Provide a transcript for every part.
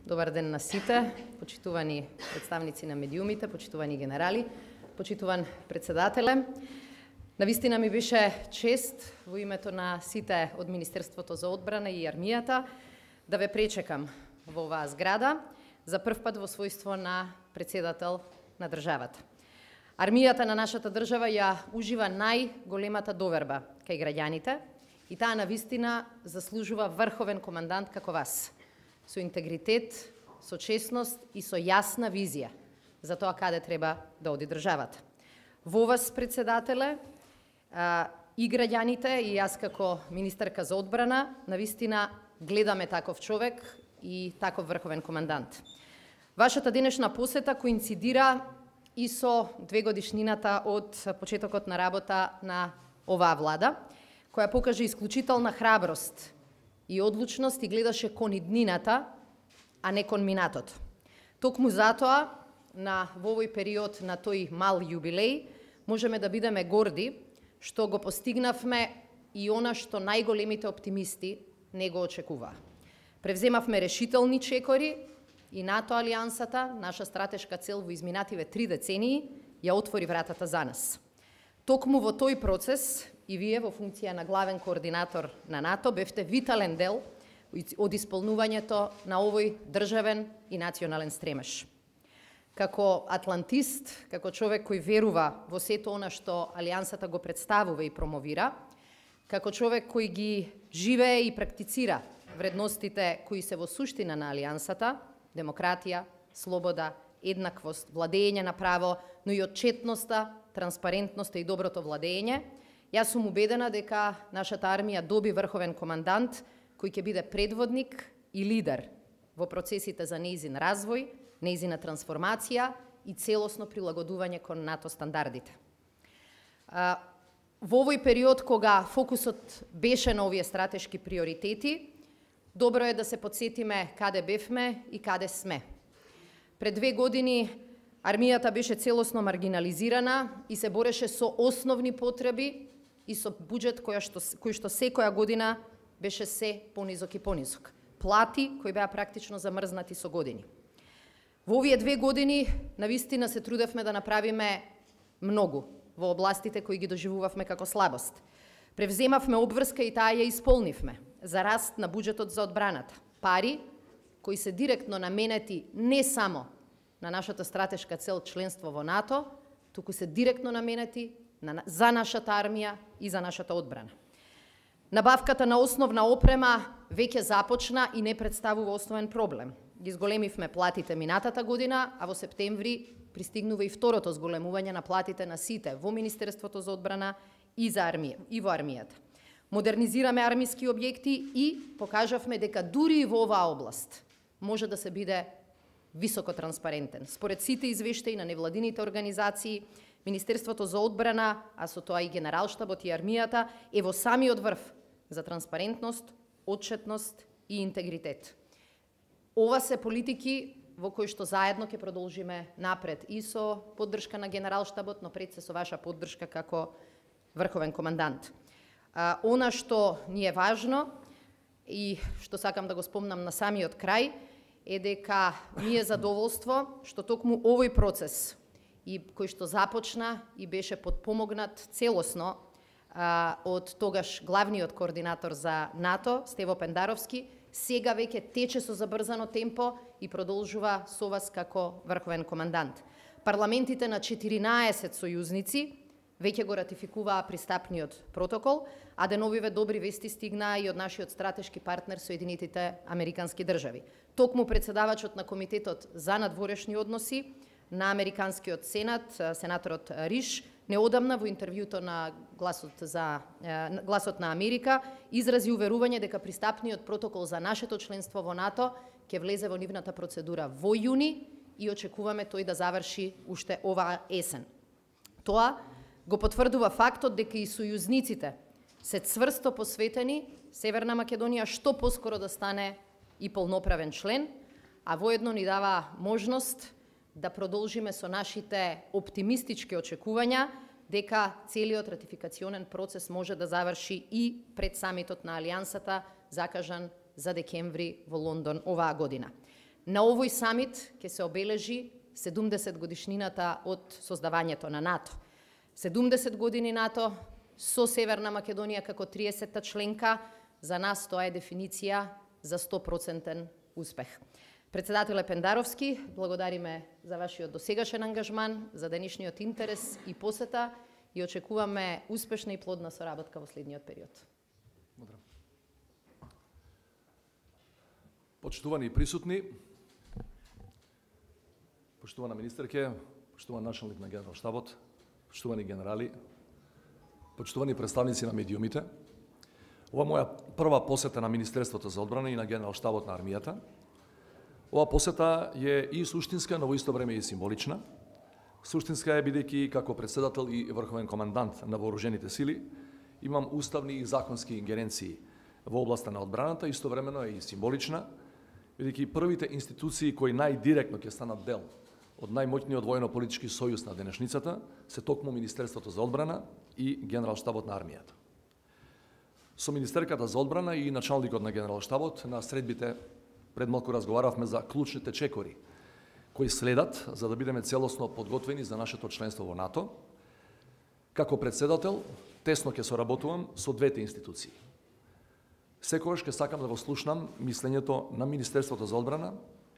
Добар ден на сите, почитувани представници на медиумите, почитувани генерали, почитуван председателе. Навистина ми беше чест во името на сите од Министерството за одбрана и армијата да ве пречекам во оваа зграда за прв пат во својство на председател на државата. Армијата на нашата држава ја ужива најголемата доверба кај граѓаните и таа навистина заслужува врховен командант како вас, со интегритет, со честност и со јасна визија за тоа каде треба да оди државата. Во вас, председателе, и граѓаните и јас како министерка за одбрана, навистина гледаме таков човек и таков врховен командант. Вашата денешна посета коинцидира и со 2 годишнината од почетокот на работа на оваа влада, која покажа исклучителна храброст и одлучност и гледаше кон иднината, а не кон минатото. Токму затоа, во овој период на тој мал јубилеј, можеме да бидеме горди што го постигнавме и она што најголемите оптимисти не го очекуваа. Превземавме решителни чекори и НАТО алијансата, наша стратешка цел во изминативе 3 децении, ја отвори вратата за нас. Токму во тој процес и вие во функција на главен координатор на НАТО бевте витален дел од исполнувањето на овој државен и национален стремеж. Како атлантист, како човек кој верува во сето она што алијансата го представува и промовира, како човек кој ги живее и практицира вредностите кои се во суштина на алијансата, демократија, слобода, еднаквост, владење на право, но и отчетноста, транспарентноста и доброто владење, јас сум убедена дека нашата армија доби врховен командант кој ќе биде предводник и лидер во процесите за нејзин развој, нејзина трансформација и целосно прилагодување кон НАТО стандардите. Во овој период кога фокусот беше на овие стратешки приоритети, добро е да се подсетиме каде бевме и каде сме. Пред 2 години армијата беше целосно маргинализирана и се бореше со основни потреби и со буџет кој што секоја година беше се понизок и понизок. Плати кои беа практично замрзнати со години. Во овие 2 години навистина се трудевме да направиме многу во областите кои ги доживувавме како слабост. Превземавме обврска и таа ја исполнивме за раст на буџетот за одбраната. Пари кои се директно наменети не само на нашата стратешка цел членство во НАТО, туку се директно наменети за нашата армија и за нашата одбрана. Набавката на основна опрема веќе започна и не представува основен проблем. Ги зголемивме платите минатата година, а во септември пристигнува и второто зголемување на платите на сите во Министерството за одбрана и во армијата. Модернизираме армиски објекти и покажавме дека дури и во оваа област може да се биде високо транспарентен. Според сите извештаи на невладините организации, Министерството за одбрана, а со тоа и Генералштабот и армијата, е во самиот врв за транспарентност, отчетност и интегритет. Ова се политики во кои што заедно ќе продолжиме напред и со поддршка на Генералштабот, но пред се со ваша поддршка како врховен командант. Она што ни е важно и што сакам да го спомнам на самиот крај е дека ми е задоволство што токму овој процес и кој што започна и беше подпомогнат целосно од тогаш главниот координатор за НАТО, Стево Пендаровски, сега веќе тече со забрзано темпо и продолжува со вас како врховен командант. Парламентите на 14 сојузници веќе го ратификуваа пристапниот протокол, а деновиве добри вести стигнаа и од нашиот стратешки партнер Соединетите Американски држави. Токму председавачот на Комитетот за надворешни односи на Американскиот Сенат, сенаторот Риш, неодамна во интервјуто на Гласот на Америка изрази уверување дека пристапниот протокол за нашето членство во НАТО ќе влезе во нивната процедура во јуни и очекуваме тој да заврши уште оваа есен. Тоа го потврдува фактот дека и сојузниците се цврсто посветени Северна Македонија што поскоро да стане и полноправен член, а воедно ни дава можност да продолжиме со нашите оптимистички очекувања дека целиот ратификационен процес може да заврши и пред самитот на Алијансата, закажан за декември во Лондон оваа година. На овој самит ќе се обележи 70 годишнината од создавањето на НАТО. 70 години НАТО со Северна Македонија како 30-та членка, за нас тоа е дефиниција за 100% успех. Председателе Пендаровски, благодариме за вашиот досегашен ангажман, за денешниот интерес и посета и очекуваме успешна и плодна соработка во следниот период. Почитувани присутни, почитувана министерке, почитуван началник на Генералштабот, почитувани генерали, почитувани представници на медиумите, ова моја прва посета на Министерството за одбрана и на Генералштабот на армијата. Ова посета е и суштинска, но во исто време и символична. Суштинска е бидејќи како председател и врховен командант на вооружените сили имам уставни и законски ингеренции во областа на одбраната, истовремено е и символична, бидејќи првите институции кои најдиректно ќе станат дел од најмоќниот војно-политички сојуз на денешницата се токму Министерството за одбрана и Генералштабот на армијата. Со министерката за одбрана и началникот на Генералштабот на средбите пред малку разговаравме за клучните чекори кои следат за да бидеме целосно подготвени за нашето членство во НАТО. Како председател, тесно ќе соработувам со двете институции. Секогаш ќе сакам да го слушнам мислењето на Министерството за одбрана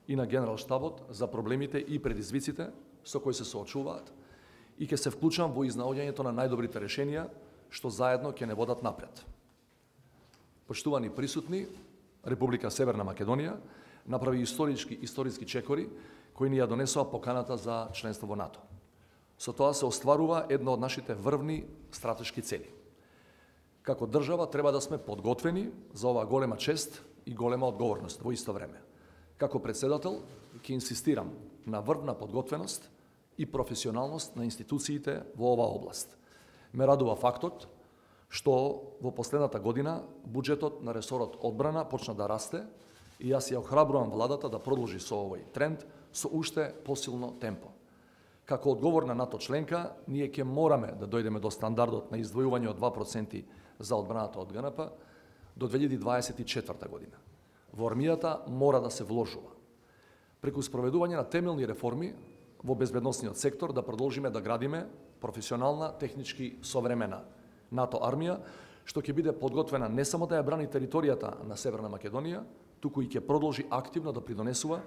и на Генералштабот за проблемите и предизвиците со кои се соочуваат и ќе се вклучам во изнаоѓањето на најдобрите решенија што заедно ќе не водат напред. Почитувани присутни, Република Северна Македонија направи историски чекори кои ни ја донесоа поканата за членство во НАТО. Со тоа се остварува една од нашите врвни стратешки цели. Како држава треба да сме подготвени за оваа голема чест и голема одговорност во исто време. Како председател ќе инсистирам на врвна подготвеност и професионалност на институциите во оваа област. Ме радува фактот што во последната година буџетот на ресорот одбрана почна да расте и јас ја охрабрувам владата да продолжи со овој тренд со уште посилно темпо. Како одговорна НАТО членка, ние ќе мораме да дојдеме до стандардот на издвојување од 2% за одбраната од ГНП до 2024 година. Во армијата мора да се вложува. Преку спроведување на темелни реформи во безбедносниот сектор да продолжиме да градиме професионална, технички современа НАТО армија, што ќе биде подготвена не само да ја брани територијата на Северна Македонија, туку и ќе продолжи активно да придонесува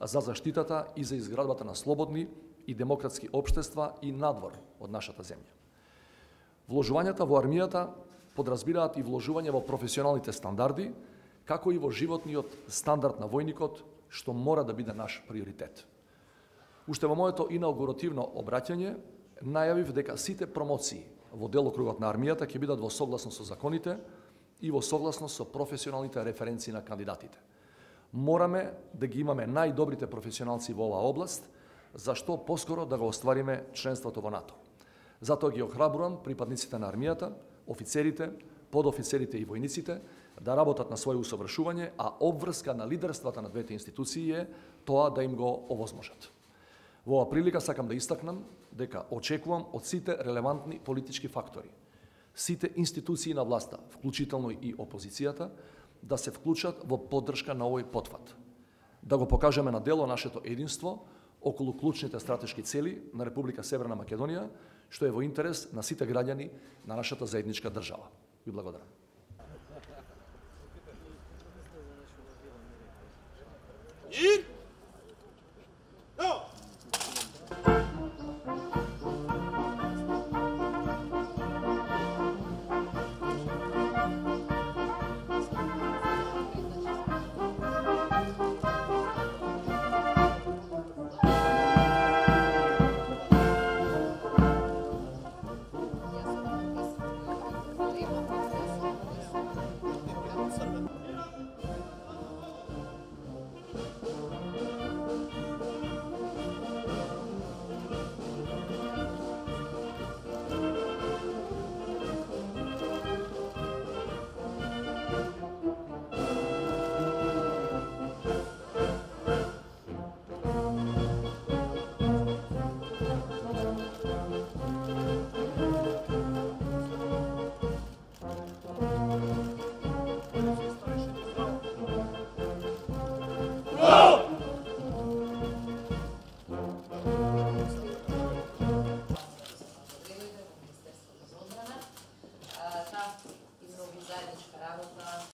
за заштитата и за изградбата на слободни и демократски општества и надвор од нашата земја. Вложувањата во армијата подразбираат и вложување во професионалните стандарди, како и во животниот стандард на војникот, што мора да биде наш приоритет. Уште во моето инаугуративно обраќање најавив дека сите промоции во делокругот на армијата ќе бидат во согласност со законите и во согласност со професионалните референции на кандидатите. Мораме да ги имаме најдобрите професионалци во оваа област, зашто поскоро да го оствариме членството во НАТО. Затоа ги охрабрувам припадниците на армијата, офицерите, подофицерите и војниците да работат на своје усовршување, а обврска на лидерствата на двете институции е тоа да им го овозможат. Во оваа прилика сакам да истакнам дека очекувам од сите релевантни политички фактори, сите институции на власта, вклучително и опозицијата, да се вклучат во поддршка на овој потфат. Да го покажеме на дело нашето единство околу клучните стратешки цели на Република Северна Македонија, што е во интерес на сите граѓани на нашата заедничка држава. Ви благодарам. И